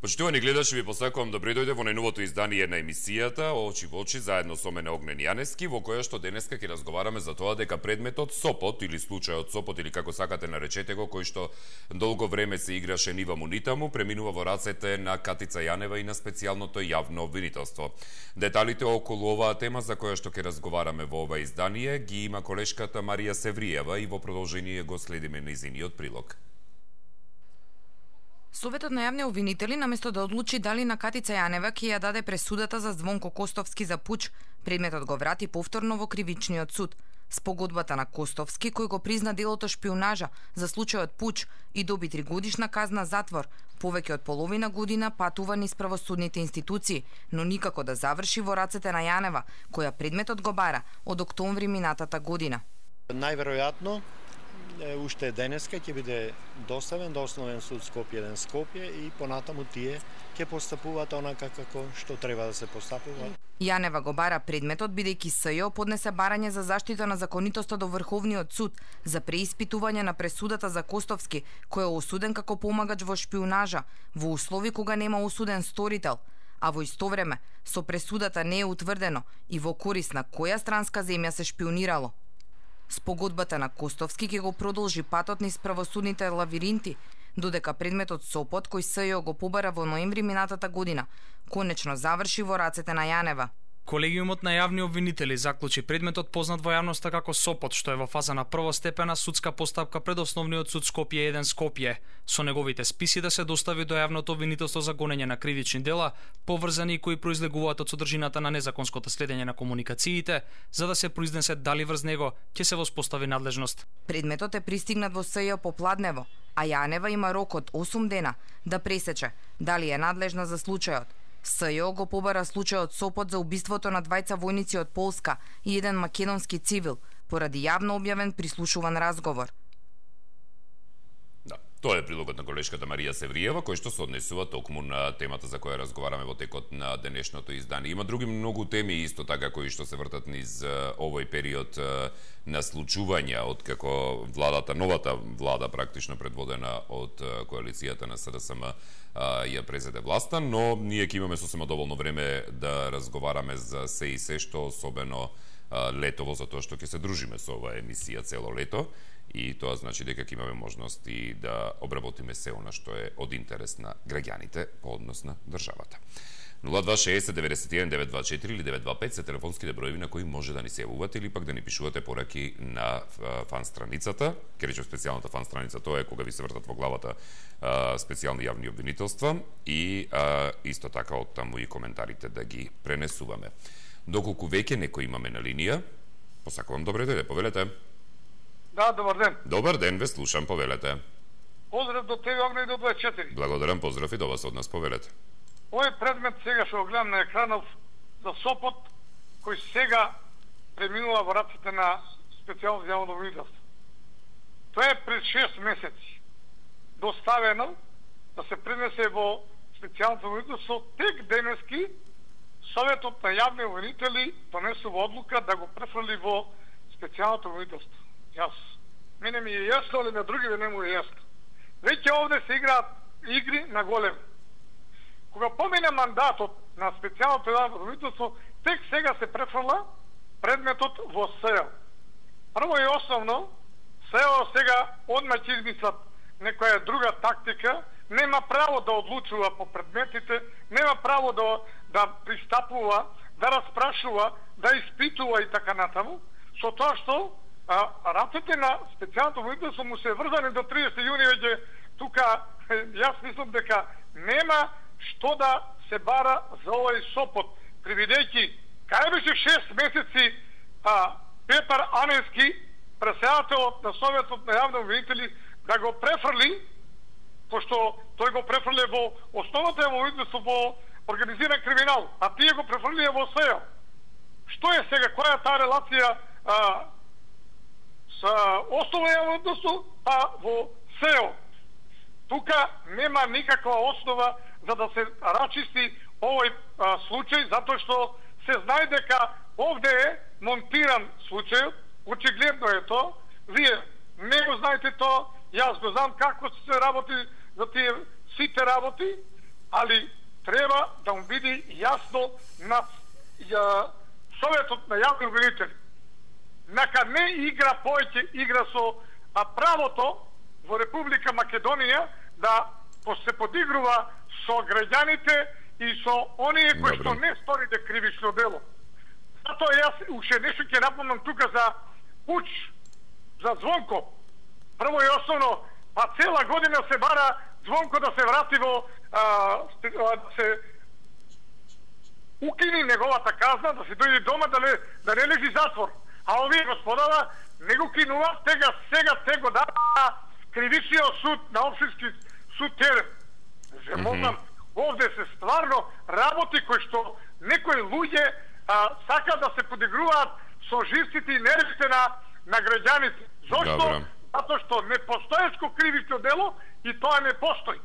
Почитувани гледачи, ви посакувам добре дојде во најновото издание на емисијата Очи во очи заедно со мене Огнен Јаневски, во која што денеска ќе разговараме за тоа дека предметот Сопот или случајот Сопот или како сакате наречете го, кој што долго време се играше нива му нитаму, преминува во рацете на Катица Јанева и на специјалното јавно обвинителство. Деталите околу оваа тема за која што ќе разговараме во ова издание ги има колешката Марија Севриева и во продолжение го следиме нејзиниот прилог. Советот на јавни обвинители, наместо да одлучи дали на Катица Јанева ќе ја даде пресудата за Звонко Костовски за пуч, предметот го врати повторно во кривичниот суд. Спогодбата на Костовски, кој го призна делото шпионажа за случајот пуч и доби 3-годишна казна затвор, повеќе од половина година патува низ правосудните институции, но никако да заврши во рацете на Јанева, која предметот го бара од октомври минатата година. Најверојатно уште денеска ќе биде доставен до Основен суд Скопје 1 Скопје и понатаму тие ќе постапуваат онака како што треба да се постапува. Јанева го бара предметот бидејќи СЈО поднесе барање за заштита на законитоста до Врховниот суд за преиспитување на пресудата за Костовски, кој е осуден како помагач во шпионажа во услови кога нема осуден сторител, а во исто време со пресудата не е утврдено и во корист на која странска земја се шпионирало. Спогодбата на Костовски ќе го продолжи патот низ правосудните лавиринти, додека предметот Сопот, кој СЈО го побара во ноември минатата година, конечно заврши во рацете на Јанева. Колегиумот на јавни обвинители заклучи предметот познат во јавноста како Сопот, што е во фаза на првостепена судска постапка пред Основниот суд Скопје 1 Скопје, со неговите списи да се достави до јавното обвинителство за гонење на кривични дела, поврзани и кои произлегуваат од содржината на незаконското следење на комуникациите, за да се произнесе дали врз него ќе се воспостави надлежност. Предметот е пристигнат во СЈО попладнево, а Јанева има рок од 8 дена да пресече дали е надлежна за случајот. СЈО го побара случајот Сопот за убиството на двајца војници од Полска и еден македонски цивил, поради јавно објавен прислушуван разговор. Да, тоа е прилогот на колешката Марија Севриева, кој што се однесува токму на темата за која разговараме во текот на денешното издание. Има други многу теми исто така кои што се вртат низ овој период на случувања од како новата влада практично предводена од коалицијата на СДСМ ја презеде власта, но ние ќе имаме сосема доволно време да разговараме за се и се што особено летово, затоа што ќе се дружиме со оваа емисија цело лето и тоа значи дека ќе имаме можност и да обработиме се она што е од интерес на граѓаните по однос на државата. 0260-91-924 или 925 се телефонските броеви на кои може да ни се јавувате или пак да ни пишувате пораки на фан страницата. Ке речем специјалната фан страница, тоа е кога ви се вртат во главата специјални јавни обвинителства и исто така од таму и коментарите да ги пренесуваме. Доколку веќе некој имаме на линија, посакувам добре дојде, повелете. Да, добар ден. Добар ден, ве слушам, повелете. Поздрав до тебе, Огне, и до 24. Благодарам, поздрав и до вас од нас, повелете. Овој предмет сега што го гледам на екранов за Сопот, кој сега преминува во раците на специјално јавно обвинителство. Тоа е пред 6 месеци доставено да се пренесе во специјалното обвинителство. Тек денески Советот на јавни обвинители донесува одлука да го префрли во специјалното обвинителство. Мене ми е јасно, али на другиве не му е јасно. Веќе овде се играат игри на голем. Кога помине мандатот на специјалното јавно обвинителство, тек сега се префрла предметот во СЈО. Прво и основно, СЈО сега одма ќе измислат некоја друга тактика, нема право да одлучува по предметите, нема право да пристапува, да распрашува, да испитува и така натаму, со тоа што рацете на специјалното обвинителство му се врзани до 30 јуни веќе тука, јас мислам дека нема што да се бара за овој Сопот, привидејќи кај беше 6 месеци Петар Аневски, председателот на Советот на јавни обвинители, да го префрли, пошто тој го префрли во основната јавно обвинителство во организиран криминал, а тие го префрлија во СЈО. Што е сега, која е таа релација со основно јавно обвинителство, па во СЈО? Тука нема никаква основа за да се рачисти овој случај, затоа што се знае дека овде е монтиран случај, очигледно е тоа. Вие не го знаете тоа, јас го знам како се работи за тие сите работи, али треба да му биде јасно на Советот на јавни обвинители. Нека не игра повеќе игра со правото во Република Македонија да се подигрува со граѓаните и со оние кои што не сторите кривично дело. Затоа јас уште нешто ќе напомнам тука за Пуч, за Звонко. Прво и основно, па цела година се бара Звонко да се врати во да се укини неговата казна, да се дојде дома, да не лежи затвор. А овие господава не го кинува, сега те го дава кривичниот суд на општински суд Терен. Земонам, овде се стварно работи кои што некои луѓе сака да се подигруваат со живците и нервите на граѓаните. Зошто? Затоа што не постоечко кривично дело и тоа не постои.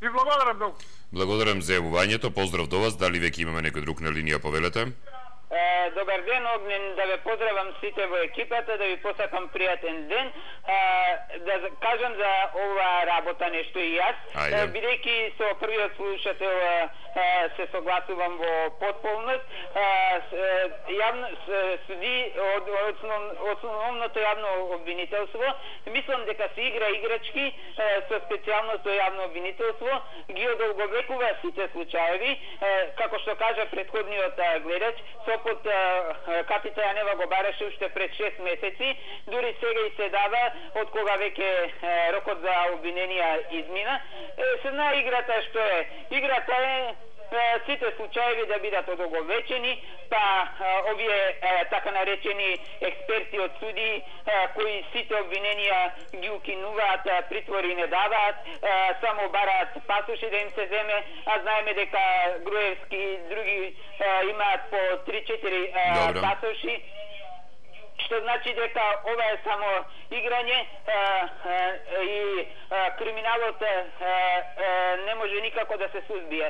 И благодарам многу. Благодарам за јавувањето, поздрав до вас. Дали веќе имаме некој друг на линија, повелете? Добар ден, Огнен, да ве поздравам сите во екипата, да ви посакам пријатен ден, да кажам за ова работа нешто и јас, бидејќи со првиот слушател се согласувам во потполност, суди од основното јавно обвинителство, мислам дека се игра играчки со специјалното јавно обвинителство, ги одолговекува сите случаеви, како што кажа претходниот гледач, Сопот Капица Јанева го бараше уште пред 6 месеци, дури сега и се дава од кога веќе рокот за обвиненија измина. Се знае играта што е. Играта е сите случаеви да бидат одолговечени, па овие така наречени експерти од суди кои сите обвиненија ги укинуваат, притвори не даваат, само бараат пасоши да им се земе, а знаеме дека Груевски и други имаат по 3-4 пасоши, што значи дека ова е само играње и криминалот не може никако да се сузбие.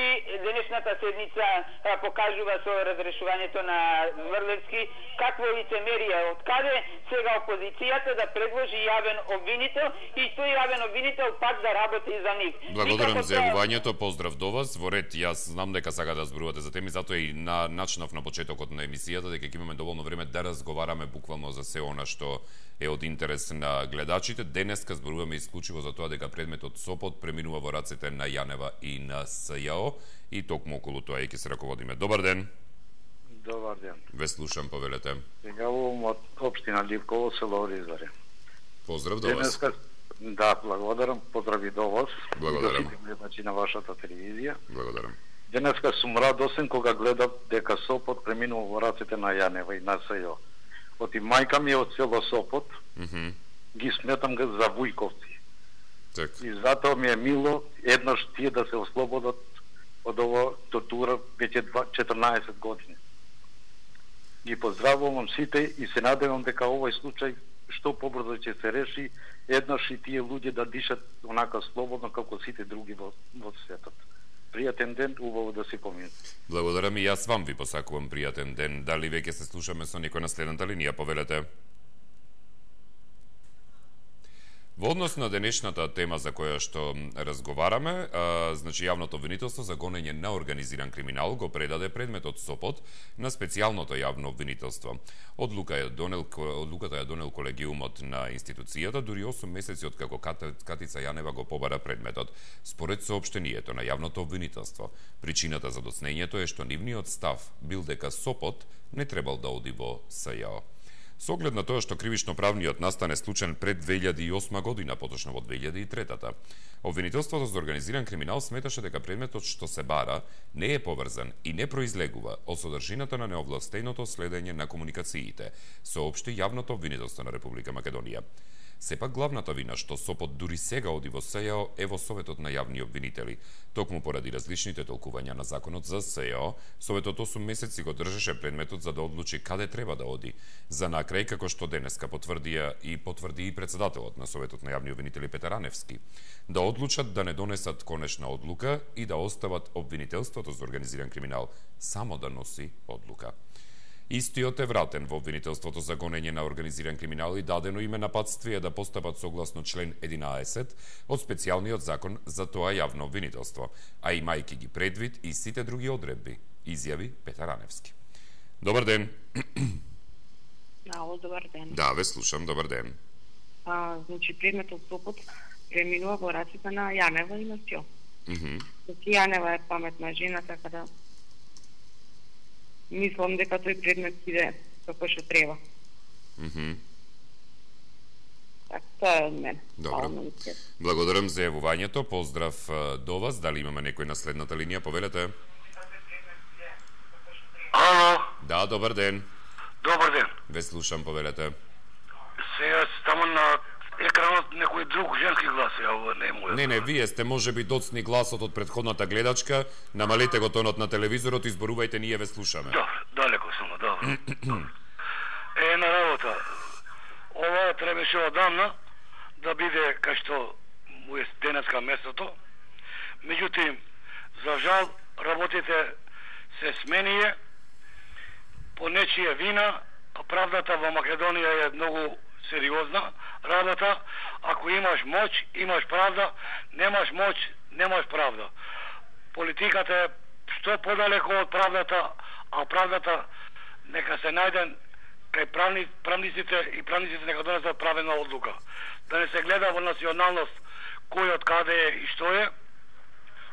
И денешната седница покажува со разрешувањето на Зврлевски какво лицемерие, од каде сега опозицијата да предложи јавен обвинител и тој јавен обвинител пак да работи за нив. Благодарам за јавувањето, поздрав до вас. Во ред, јас знам дека сака да зборувате за теми, затоа и начнав на почетокот на емисијата дека ќе имаме доволно време да разговараме буквално за се она што е од интерес на гледачите. Денеска зборуваме исклучиво за тоа дека предметот Сопот преминува во рацете на Јанева и на СЈО и токму околу тоа ќе се раководиме. Добар ден. Добар ден. Ве слушам, повелете. Јавувам од општина Ливково, село Оризаре. Поздрав до вас. Да, благодарам. Поздрави до вас. Благодарам. До сите гледачи на вашата телевизија. Благодарам. Денеска сум радосен кога гледам дека Сопот преминува во рацете на Јанева и на СЈО. Оти мајка ми е од село Сопот, ги сметам ga за вујковци. Так. И затоа ми е мило еднаш тие да се ослободат од ова тортура веќе 14 години. Ги поздравувам сите и се надевам дека овој случај што побрзо ќе се реши, еднаш и тие луѓе да дишат онака слободно како сите други во светот. Пријатен ден, убаво да си помине. Благодарам и јас вам ви посакувам пријатен ден. Дали веќе се слушаме со некој на следната линија, повелете? Во однос на денешната тема за која што разговараме, значи јавното обвинителство за гонење на организиран криминал го предаде предметот Сопот на специјалното јавно обвинителство. Одлуката ја донел колегиумот на институцијата дури 8 месеци од како Катица Јанева го побара предметот. Според соопштението на јавното обвинителство, причината за доснењето е што нивниот став бил дека Сопот не требал да оди во СЈО. Со оглед на тоа што кривично-правниот настан е случен пред 2008 година, поточно во 2003-та. Обвинителството за организиран криминал сметаше дека предметот што се бара не е поврзан и не произлегува од содржината на неовластеното следење на комуникациите, соопшти јавното обвинителство на Република Македонија. Сепак главната вина што Сопот дури сега оди во СЈО е во Советот на јавни обвинители. Токму поради различните толкувања на законот за СЈО, Советот 8 месеци го држеше предметот за да одлучи каде треба да оди. За накрај, како што денеска потврди и председателот на Советот на јавни обвинители Петар Аневски, да одлучат да не донесат конечна одлука и да остават обвинителството за организиран криминал само да носи одлука. Истиот е вратен во обвинителството за гонење на организиран криминал и дадено име нападствие да постапат согласно член 11 од специјалниот закон за тоа јавно обвинителство, а имајќи ги предвид и сите други одредби, изјави Петар Раневски. Добар ден. Ало, добар ден. Да, ве слушам, добар ден. Значи, предметот Сопот преминува во раците на Јанева и на Сјо. Значи, Јанева е паметна жена, така да мислам дека тој предмет иде како што треба. Така, тоа е од мене. Добро. Благодарам за јавувањето. Поздрав до вас. Дали имаме некој на следната линија? Повелете. Ало. Да, добар ден. Добар ден. Ве слушам, повелете. Сега тамо на екранот некој друг женски глас е, ова не е мојот. Не, вие сте можеби доцни гласот од претходната гледачка, намалете го тонот на телевизорот и зборувајте, ние ве слушаме. Добро, далеко сум, добро. Една работа. Ова требаше одамна да биде кај што му е денеска местото. Меѓутоа, за жал, работите се сменија по нечија вина, а правдата во Македонија е многу сериозна работа. Ако имаш моќ, имаш правда, немаш моќ, немаш правда. Политиката е што подалеко од правдата, а правдата нека се најде кај правниците и правниците нека донесат правилна одлука. Да не се гледа во националност кој од каде е и што е,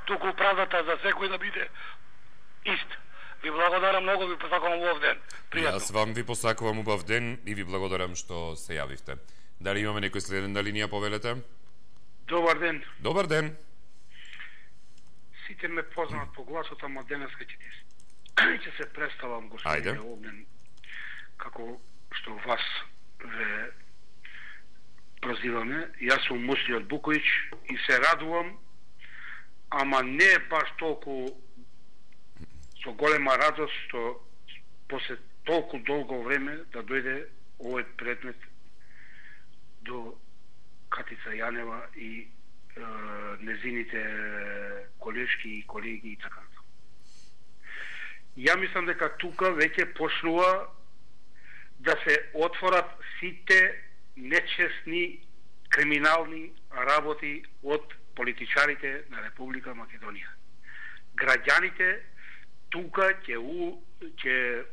туку правдата за секој да биде ист. Ви благодарам многу, ви посакувам убав ден. Пријатно. Јас вам ви посакувам убав ден и ви благодарам што се јавивте. Дали имаме некој следен на линија, повелете? Добар ден. Добар ден. Сите ме познават по гласот, ама денеска ќе се представам, господин Огнен, како што вас ве прозиваме. Јас сум Мусли од Буковиќ и се радувам, ама не баш толку со голема радост што после толку долго време да дојде овој предмет до Катица Јанева и незините колешки и колеги и така. Ја мислам дека тука веќе почнува да се отворат сите нечесни криминални работи од политичарите на Република Македонија. Граѓаните тука ќе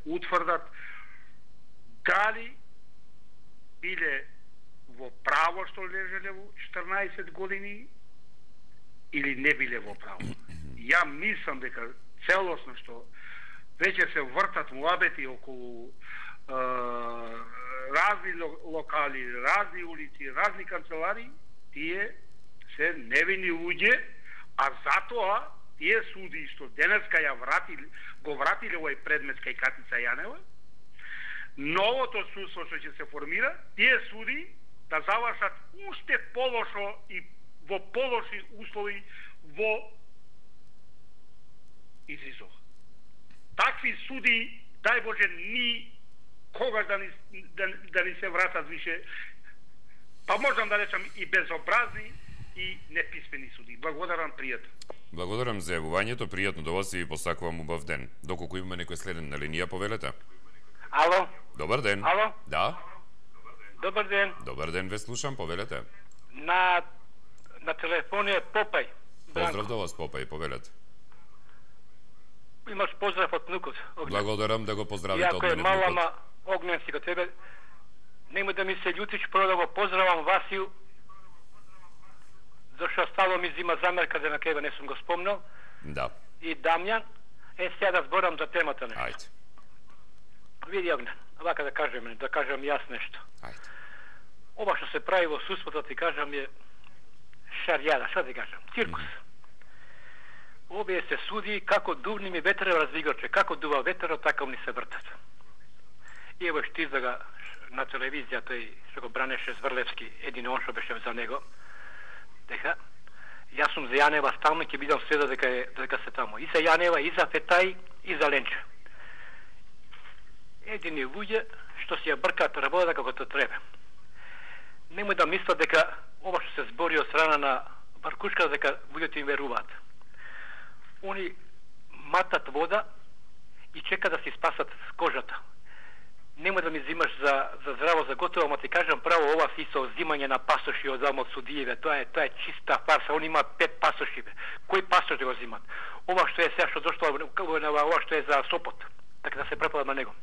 утврдат дали биле во право што лежеле во 14 години или не биле во право. Ја мислам дека целосно што веќе се вртат муабети околу разни локали, разни улици, разни канцелари, тие се невини луѓе, а затоа тие суди што денеска го вратиле овој предмет кај Катица Јанева, новото судство што ќе се формира, тие суди да завршат уште полошо и во полоши услови во изизов. Такви суди, дај Боже, ни когаш да ни се вратат више, па можам да речам и безобразни и неписмени суди. Благодарам, пријатно. Благодарам за јавувањето, пријатно до вас и ви посакувам убав ден. Доколку имаме некој следен на линија, повелете. Ало. Добар ден. Ало. Да. Добар ден. Добар ден, ве слушам, повелете. На телефон е Попај. Поздрав до вас, Попај, повелете. Имаш поздрав од внукот. Благодарам да го поздравите од мене внукот. Иако е мала, Огнен си кај тебе, нема да ми се љутиш, прво да го поздравам Васију, зашто стало ми зима замерка да на кеба не сум го спомнал. Да. И Дамјан, сега да зборам за темата нешто. Ајде. Види, Огнен, вака да кажем јас нешто. Ајде. Ова што се прави во судството, ти кажам, е шарјада, што ти кажам, циркус. Овие се суди како дувни ми ветерот развигаче, како дува ветерот, така ни се вртат. И ево што излага на телевизија тој што го бранеше Зврлевски, един он што беше за него, дека јас сум за Јанева стално ќе бидам следа дека се тамо. И за Јанева, и за Фетај, и за Ленче. Едини луѓе што си ја бркаат работата како тоа треба. Немој да мислат дека ова што се збори од страна на Баркушка дека луѓето им веруваат. Они матат вода и чекат да си спасат кожата. Нема да ми зимаш за здраво за готово, ама ти кажам право, ова си со взимање на пасоши од замот судиеве, тоа е чиста фарса, они имаат 5 пасоши. Кој пасош да го зимат? Ова што е сега што дошло, ова што е за Сопот, така да се препада на него.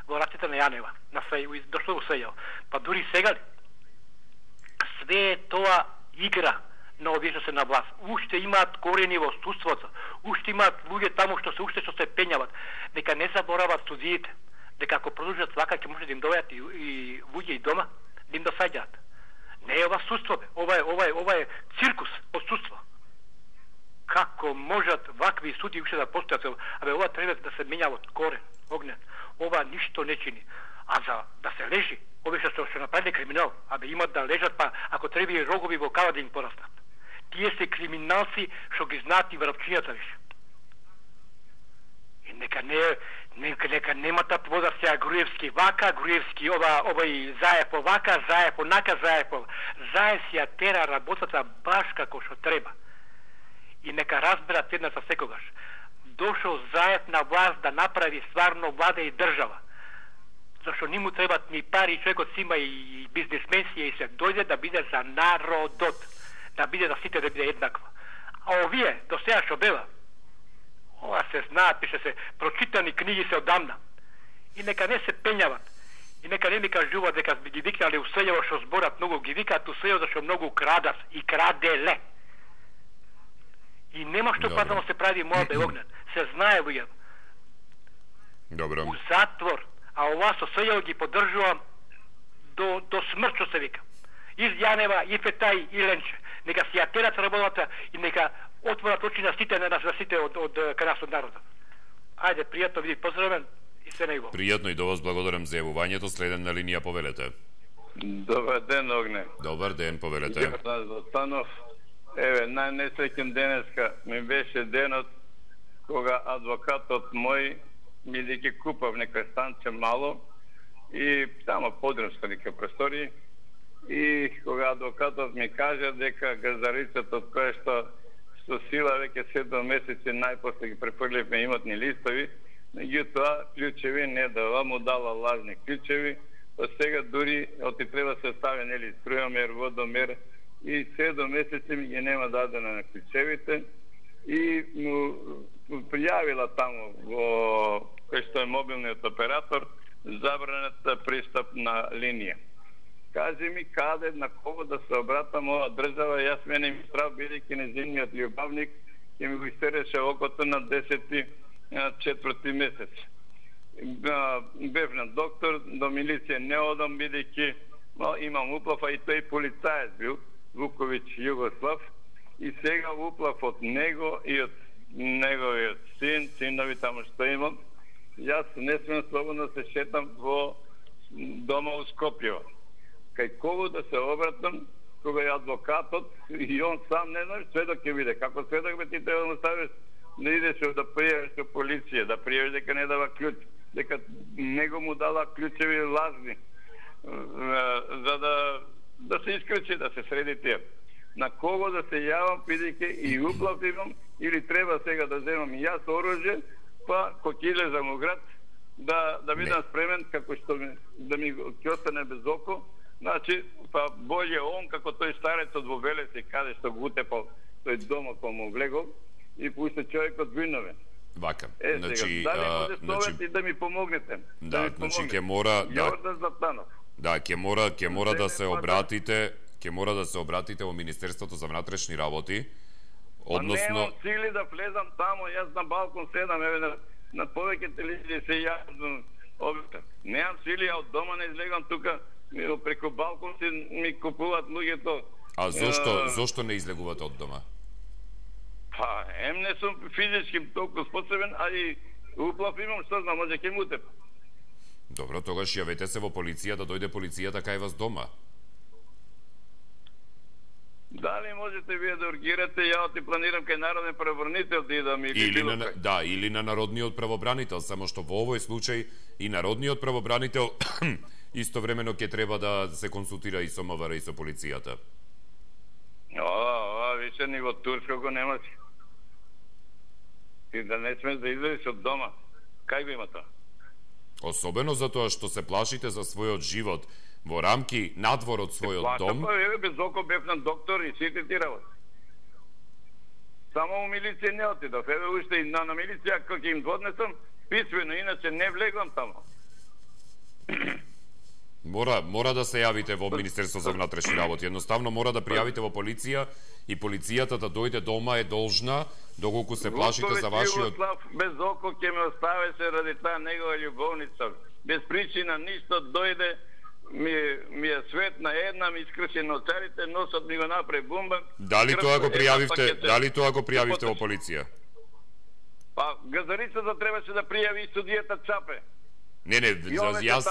Во раците на Јанева, на дошло во Сејао. Па дури сега ли? Све тоа игра на овие што се на власт. Уште имаат корени во судството, уште имаат луѓе таму што се пењават. Нека не заборават судиите, дека ако продолжат вака ќе може да им доаѓаат и луѓе и дома, да им досаѓаат. Не е ова судство, бе. Ова е циркус од судство. Како можат вакви суди уште да постојат? Абе, ова треба да се менја од корен, огнен. Ова ништо не чини. А за да се лежи, овие што се направили криминал, абе имат да лежат, па ако треба и рогови во кава да им порастат. Тие се криминалци што ги знаат и врапчињата више. И нека немата вода сега Груевски вака, Груевски овај Заев овака, Заев онака, Заев си ја тера работата баш како што треба. И нека разберат еднаш за секогаш. Дошол Заев на власт да направи стварно влада и држава. Зашто не му требат ни пари, човекот си има и бизнесменси и се дојде да биде за народот, да биде за сите да биде еднаква. А овие до сега што бела, ова се знаат, пише се, прочитани книги се одамна. И нека не се пењават. И нека не ми кажуваат дека ги викнали у Сејаво што зборат многу, ги викаат у Сејаво зашто многу крадат и краделе. И нема што пазано се прави моја Огнен. Се знае луѓе. Добро. У затвор. А ова со Сејаво ги поддржувам до смрт што се вика. Из Јанева, и Фетај, и Ленче. Нека си ја терат работата и нека отворат очи на сите од кај од народот. Ајде, пријатно види, поздравен и се најубаво. Пријатно и до вас благодарам за јавувањето. Следен на линија, повелете. Добар ден, Огне. Добар ден, повелете. Јас Златанов. Еве, најнесреќен денеска ми беше денот кога адвокатот мој бидејќи купав нека станче мало и тамо подромска нека просторија и кога адвокатот ми кажа дека газдарицата од која што со сила веќе 7 месеци најпосле ги префрливме имотни листови, меѓутоа клучеви не дава, му дала лажни клучеви, па сега дури оти треба се стави нели струјомер, водомер и 7 месеци ми ги нема дадена на клучевите и му пријавила таму во кој што е мобилниот оператор забраната пристап на линија. Кажи ми каде, на кого да се обратам ова држава, јас мене ми страв бидејќи незиниот љубавник ќе ми го истереше окото на 10-4 месец. Бев на доктор, до милиција не одам бидејќи имам уплав, а и тој полицаец бил, Вуковиќ Југослав, и сега уплав од него и од неговиот синови таму што имам. Јас не смем слободно се шетам во дома у Скопје. Кај кого да се обратам, кога е адвокатот и он сам не знае, сведок ќе биде. Како сведок бе ти треба да ставиш да идеш да пријавиш со полиција, да пријавиш дека не дава клjuč, дека него му дала клjučеви лажни, за да се искречи, да се среди тие. На кого да се јавам, бидејќи и уплав имам, или треба сега да земам и јас оружје, па кога ќе излезам у град, да бидам спремен, како што да ми ќе остане без око. Значи, па болje он, како тој старецот во Велеси, каде што го утепал тој дома кој му влегол, и пуста човекот виновен. Вака. Значи, дали може совет и да ми помогнете? Да, значи ќе мора Јордан Златанов. Да, ќе мора да се обратите, во Министерството за внатрешни работи. Односно, немам сили да влезам таму, јас на балкон седам, еве на повеќе телевизии се јавам објектот. Немам сили, а од дома не излегам тука, преку балкон си ми купуваат луѓето. А зошто не излегувате од дома? Па, не сум физички толку способен, а и уплав имам, што знам, може ќе му утеп. Добро, тогаш јавете се во полиција, да дојде полицијата кај вас дома. Дали можете вие да ургирате, ја ти планирам кај народен правобранител да идам или на народниот правобранител, само што во овој случај и народниот правобранител истовремено ќе треба да се консултира и со МВР и со полицијата. Више ни во Турско го немаш. И да не смеш да излезеш од дома. Кај го има тоа? Особено затоа што се плашите за својот живот во рамки надвор од својот дом. Без око бев на доктор и сите ти работи. Само у милиција не отидов. Еве уште и на милиција кога им однесам писмено, иначе не влегам тамо. Мора да се јавите во Министерство за внатрешни работи. Едноставно мора да пријавите во полиција и полицијата да дојде дома е должна, доколку се плашите за вашиот... Без око ќе ме оставеше ради таа негова љубовница. Без причина ништо дојде, ми е светна една, ми искрши ноцарите, носот ми го направи бумбар. Дали тоа го пријавивте во полиција? Па, газарицата требаше да пријави и судијата Чапе. Не, јас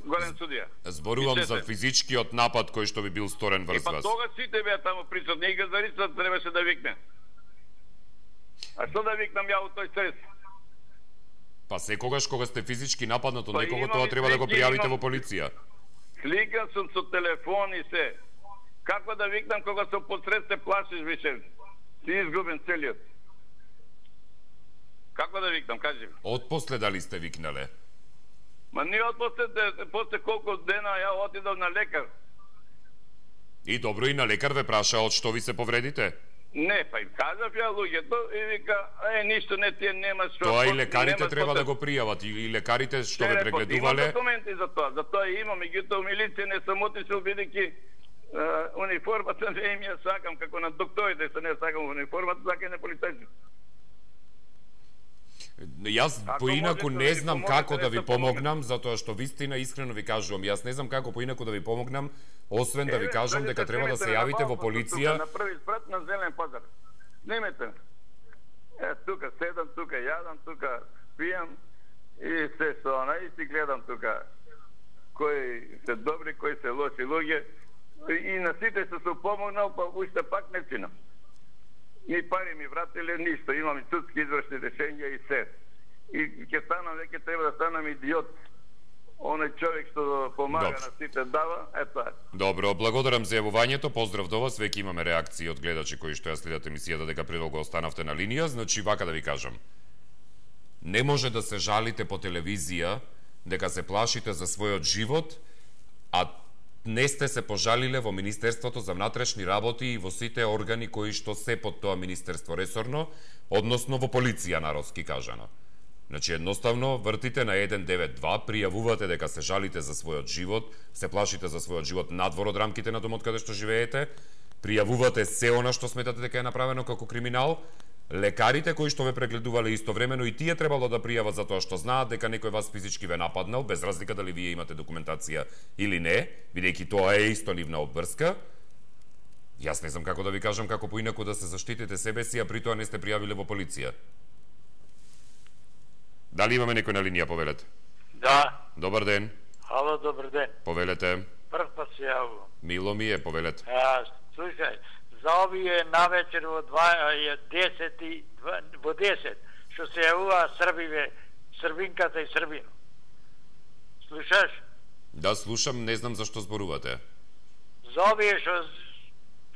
голем судија. Зборувам за физичкиот напад кој што би бил сторен врз вас. Па тога сите беа таму присутни и газарицата требаше да викне. А што да викнам ја у тој стрес? Па секогаш кога сте физички нападнат од некого, тоа треба да го пријавите во полиција. Сликан сум со телефон и се. Како да викнам кога се посред се плашиш више? Си изгубен целиот. Како да викнам, кажи ми? Отпосле дали сте викнале? Ма не после колку дена ја отидов на лекар. И добро, и на лекар ве праша од што ви се повредите? Не, па им кажав ја луѓето и вика, ништо не тие нема што... Тоа и лекарите треба да го пријават, и лекарите што ве прегледувале... Имам документи за тоа имам, меѓутоа милиција не сам отишол бидејќи униформата не им ја сакам, како на докторите се не сакам униформата, сакам на полицајци. Јас поинаку не знам како да ви помогнам, затоа што вистина искрено ви кажувам, јас не знам како поинаку да ви помогнам, освен да ви кажам дека треба да се јавите во полиција. На први спрат на Зелен пазар. Снимете. Тука седам, тука јадам, тука пијам и се со она и си гледам тука кои се добри, кои се лоши луѓе и на сите се помогнал, па уште пак не чинам. Ни пари ми вратиле, ништо. Имам и судски извршни решенја и се. И ќе станам, веќе треба да станам идиот. Оној човек што помага на сите дава, тоа. Добро, благодарам за јавувањето, поздрав до вас, веќе имаме реакции од гледачи кои што ја следат емисијата дека предолго останавте на линија, значи вака да ви кажам. Не може да се жалите по телевизија дека се плашите за својот живот, а не сте се пожалиле во Министерството за внатрешни работи и во сите органи кои што се под тоа министерство ресорно, односно во полиција народски кажано. Значи, едноставно, вртите на 192, пријавувате дека се жалите за својот живот, се плашите за својот живот надвор од рамките на домот каде што живеете, пријавувате се она што сметате дека е направено како криминал, лекарите кои што ве прегледувале истовремено и тие требало да пријават за тоа што знаат дека некој вас физички ве нападнал, без разлика дали вие имате документација или не, бидејќи тоа е исто нивна обврска. Јас не знам како да ви кажам како поинаку да се заштитите себе си, а при тоа не сте пријавиле во полиција. Дали имаме некој на линија, повелете? Да. Добар ден. Ало, добар ден. Повелете. Прв пат се јавувам. Мило ми е, повелете. Слушај, за овие навечер во 10, што се јавува Србиве, Србинката и Србино. Слушаш? Да, слушам, не знам зашто зборувате. За овие што,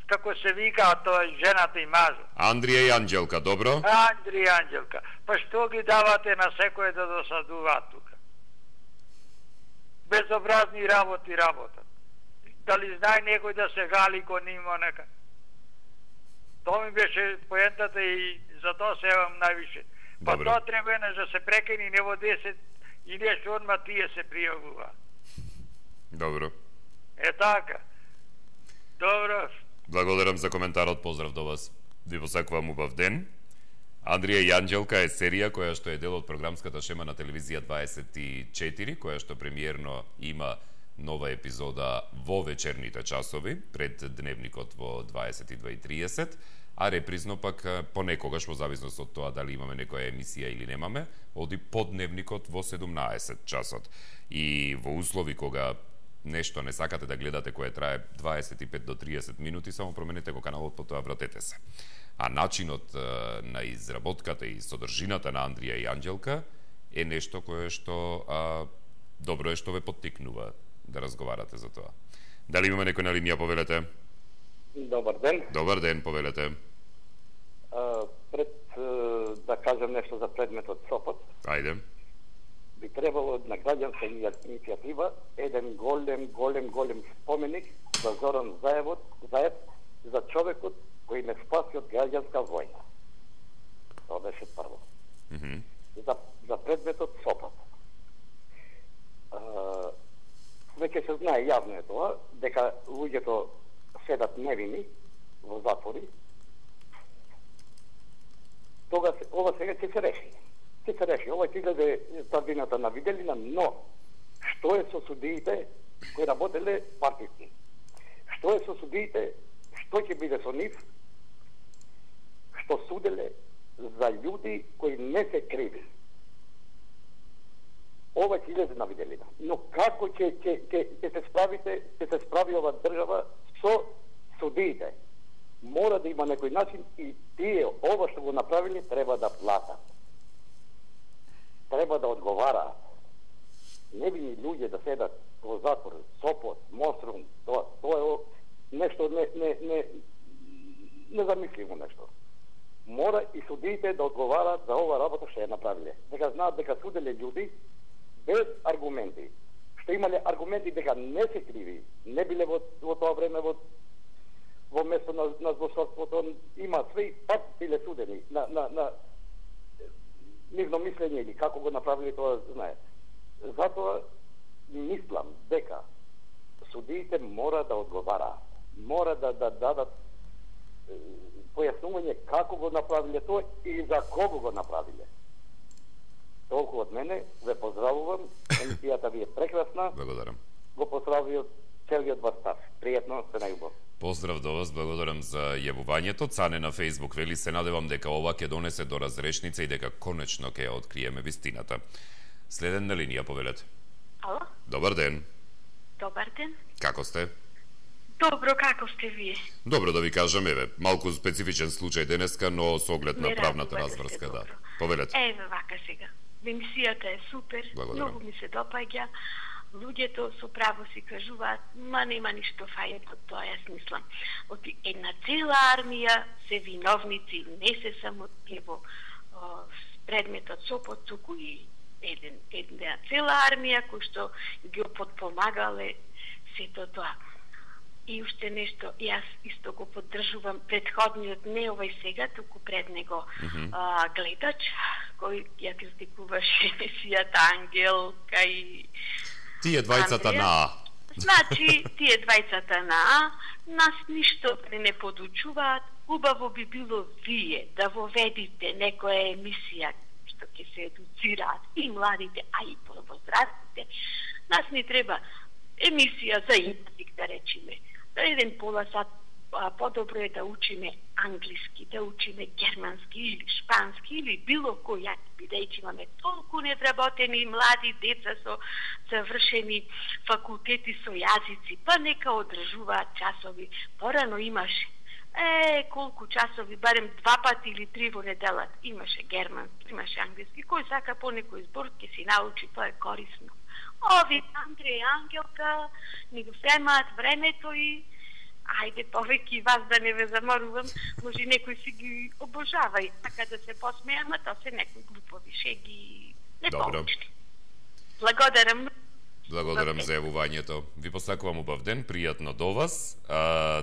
како се вика, тоа жената и мажот. Андрија и Анđелка, добро? Андрија и Анđелка. Па што ги давате на секој да досадуваат тука? Безобразни работи работат. Дали знае некој да се гали кон има нека? Тоа ми беше поентата и за тоа се јавам највише. Па тоа треба да се прекини не во 10 и нешто одма тие се пријавува. Добро. Така. Добро. Благодарам за коментарот, поздрав до вас. Ви посакувам убав ден. Андрија и Анđелка е серија која што е дел од програмската шема на телевизија 24, која што премиерно има нова епизода во вечерните часови, пред дневникот во 22:30, а репризно пак понекогаш во зависност од тоа дали имаме некоја емисија или немаме, оди по дневникот во 17 часот. И во услови кога нешто не сакате да гледате кое трае 25 до 30 минути, само променете го каналот, потоа вратете се. А начинот на изработката и содржината на Андрија и Анđелка е нешто кое што добро е што ве поттикнува да разговарате за тоа. Дали имаме некој на линија, повелете? Добар ден. Добар ден, повелете. Пред да кажем нешто за предметот Сопот. Ајде. би требало на граѓанска иницијатива еден голем споменик за Зоран Заев за човекот кој не спаси од граѓанска војна. Тоа беше прво. За предметот Сопот. Веќе се знае, јавно е тоа, дека луѓето седат невини во затвори. Тога ова сега ќе се реши. Ова ќе излезе тврдината на виделина, но што е со судиите кои работеле партиски? Што е со судиите? Што ќе биде со нив? Што суделе за луѓе кои не се криви? Ова ќе излезе на виделина. Но како ќе се справи ова држава со судиите? Мора да има некој начин и тие ова што го направили треба да платат. Треба да одговараат. Невини луѓе да седат во затвор, Сопот, Мострум, тоа е нешто незамисливо нешто. Мора и судиите да одговараат за ова работа што ја направиле. Дека знаат дека суделе луѓе без аргументи. Што имале аргументи дека не се криви, не биле во тоа време во место на злосторството, има све и пат биле судени на нивно мислење или како го направили тоа, знае. Затоа мислам дека судиите мора да одговараат, мора да дадат појаснување како го направиле тоа и за кого го направиле. Толку од мене, ве поздравувам, емисијата ви е прекрасна. Благодарам. Го поздравувам целиот вас став. Пријатно, се најубаво. Поздрав до вас, благодарам за јавувањето. Цане на Facebook вели, се надевам дека ова ќе донесе до разрешница и дека конечно ќе ја откриеме вистината. Следен на линија, повелете. Ало? Добар ден. Добар ден. Како сте? Добро, како сте вие? Добро, да ви кажам, еве, малку специфичен случај денеска, но со оглед на правната разврска, да. Повелете. Еве вака сега. Емисијата е супер, многу ми се допаѓа. Луѓето со право си кажуваат, нема ништо фајно од тоа, јас мислам. Од една цела армија се виновници, не се само ево предметот Сопот, туку и една цела армија кој што ги подпомагале сето тоа. И уште нешто, јас исто го поддржувам предходниот, не овој сега, туку пред него гледач, кој ја критикуваше емисијата Ангелка и тие двајцата на А. Значи, тие двајцата на А нас ништо не подучуваат. Убаво би било вие да воведите некоја емисија што ќе се едуцираат и младите, а и возрастните. Нас ни треба емисија за език, да речеме. За еден пола сат подобро е да учиме англиски, да учиме германски или шпански или било која, бидејќи имаме толку недработени млади деца со завршени факултети со јазици, па нека одржуваат часови. Порано имаше колку часови, барем 2 пати или 3 во неделата имаше германски, имаше англиски. Кој сака по некој збор ќе си научи, тоа е корисно. Ови Андреј и Ангелка ни го земаат времето и ајде повеќе вас да не ве заморувам, може некој си ги обожава и така да се посмеја, ама тоа се некои глупови шеги непоучни. Благодарам. Благодарам за јавувањето. Ви посакувам убав ден, пријатно до вас.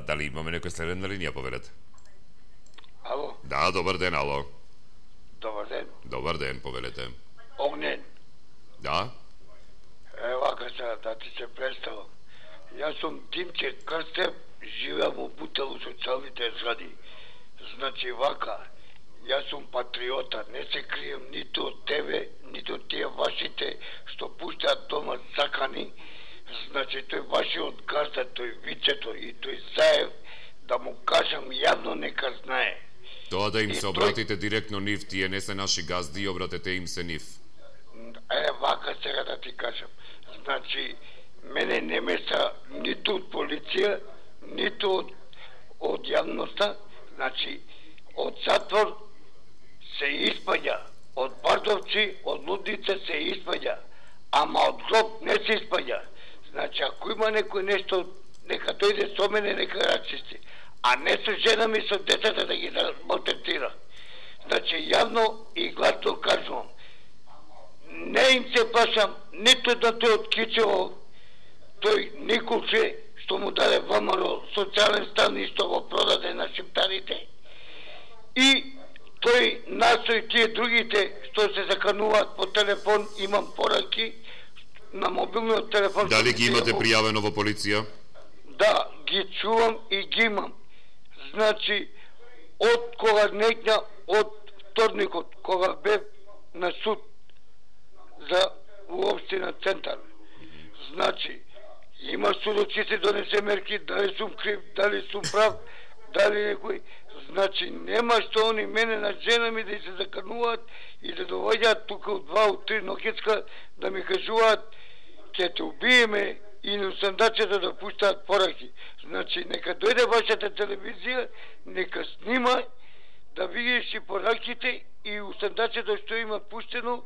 Дали имаме некој следен на линија, повелете? Ало? Да, добар ден, ало. Добар ден. Добар ден, повелете. Огнен. Да? Вака сега да ти се представам. Јас сум Тимче Крстев, живеам во Бутел социјалните згради. Значи вака, јас сум патриота, не се крием ниту од тебе, ниту од тие вашите што пуштаат дома закани. Значи тој вашиот газда, тој Вицето и тој Заев, да му кажам јавно нека знае. Тоа да им се обратите директно нив, тие не се наши газди и обратете им се нив. Вака сега да ти кажам. Значи, мене не меса ниту од полиција, ниту од јавноста. Значи, од затвор се испаѓа, од Бардовци, од Лудница се испаѓа, ама од гроб не се испаѓа. Значи, ако има некој нешто, нека дојде со мене, нека рачисти, а не со жена ми, со децата да ги малтретира. Значи, јавно и гласно кажувам, не им се плашам нито да тој од Кичево, тој Николче, што му даде ВМРО социјален стан и што го продаде на шиптарите. И тој настои тие другите што се закануваат по телефон, имам пораки на мобилниот телефон. Дали ги имате пријавено во полиција? Да, ги чувам и ги имам. Значи, од кога некња, од вторникот, кога бев на суд за општина Центар, значи, има судоци се донесе мерки, дали сум крив, дали сум прав, дали некој. Значи, нема што они мене на жена ми да се закануваат и да доваѓаат тука од 2 од 3 ноќецка да ми кажуваат ќе те убиеме и на сандачето да пуштаат пораки. Значи, нека дојде вашата телевизија, нека снима да видиш и пораките и у сандачето што има пуштено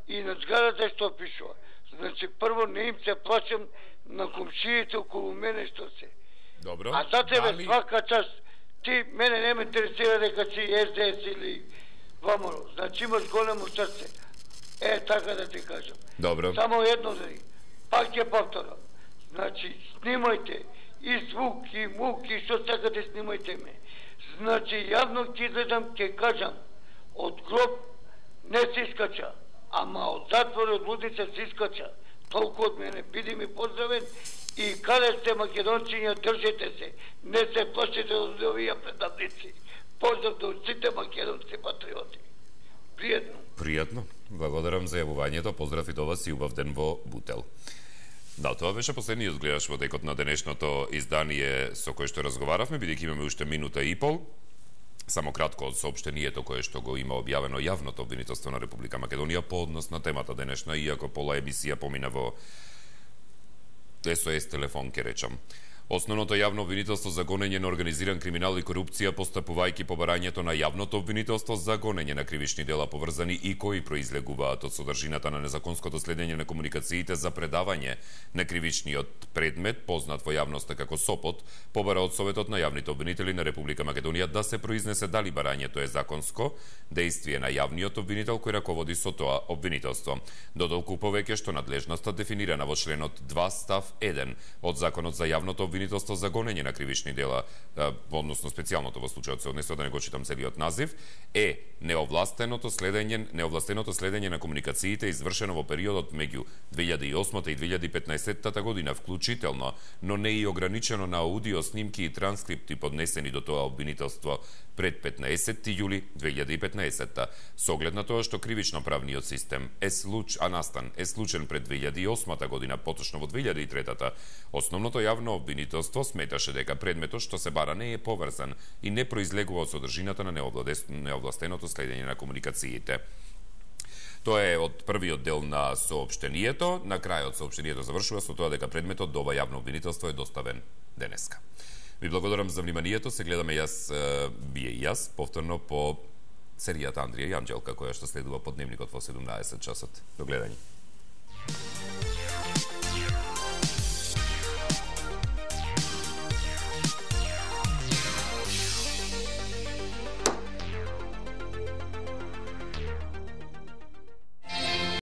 и на зградата што пишува. Значи, прво не им се плачам на комшиите околу мене што се. Добро. А за тебе свака част, ти мене не ме интересира дека си СДС или ВМРО. Значи имаш големо срце. Така да ти кажам. Добро. Само едно да ни. Пак ќе повторам. Значи, снимајте и звук, и мук, и што сакате снимајте ме. Значи, јавно ќе излезам, ќе кажам, од гроб не се искача, ама од затвор, од лудница се искача. Толку од мене, биди ми поздравен и каде сте македонциња, држете се, не се плашите од овие предавници. Поздрав до сите македонски патриоти. Пријатно. Пријатно. Благодарам за јавувањето, поздрав и до вас и убав ден во Бутел. Да, тоа беше последниот гледаш во текот на денешното издание со кој што разговаравме, бидејќи имаме уште минута и пол. Само кратко од соопштението кое што го има објавено јавното обвинителство на Република Македонија по однос на темата денешна, иако пола емисија помина во СОС телефон, ке речам. Основното јавно обвинителство за гонење на организиран криминал и корупција, постапувајќи по барањето на јавното обвинителство за гонење на кривични дела поврзани и кои произлегуваат од содржината на незаконското следење на комуникациите за предавање на кривичниот предмет, познат во јавноста како СОПОТ, побара од Советот на јавните обвинители на Република Македонија да се произнесе дали барањето е законско дејствие на јавниот обвинител кој раководи со тоа обвинителство. Додолку повеќе што надлежноста дефинирана во членот 2 став 1 од Законот за јавното обвинителство за гонење на кривични дела, односно специјалното во случајот се однесува, да не го читам целиот назив, е неовластеното следење на комуникациите извршено во периодот меѓу 2008 и 2015 година вклучително, но не и ограничено на аудио снимки и транскрипти поднесени до тоа обвинителство пред 15 јули 2015. Со оглед на тоа што кривично-правниот систем е случен пред 2008 година, поточно во 2003, основното јавно обвинителство сметаше дека предметот што се бара не е поврзан и не произлегува од содржината на неовластеното следење на комуникациите. Тоа е од првиот дел на соопштението. На крајот соопштението завршува со тоа дека предметот до ова јавно обвинителство е доставен денеска. Ви благодарам за вниманието. Се гледаме вие и јас повторно по серијата Андрија и Анџелка, која што следува по дневникот во 17 часот. До гледање.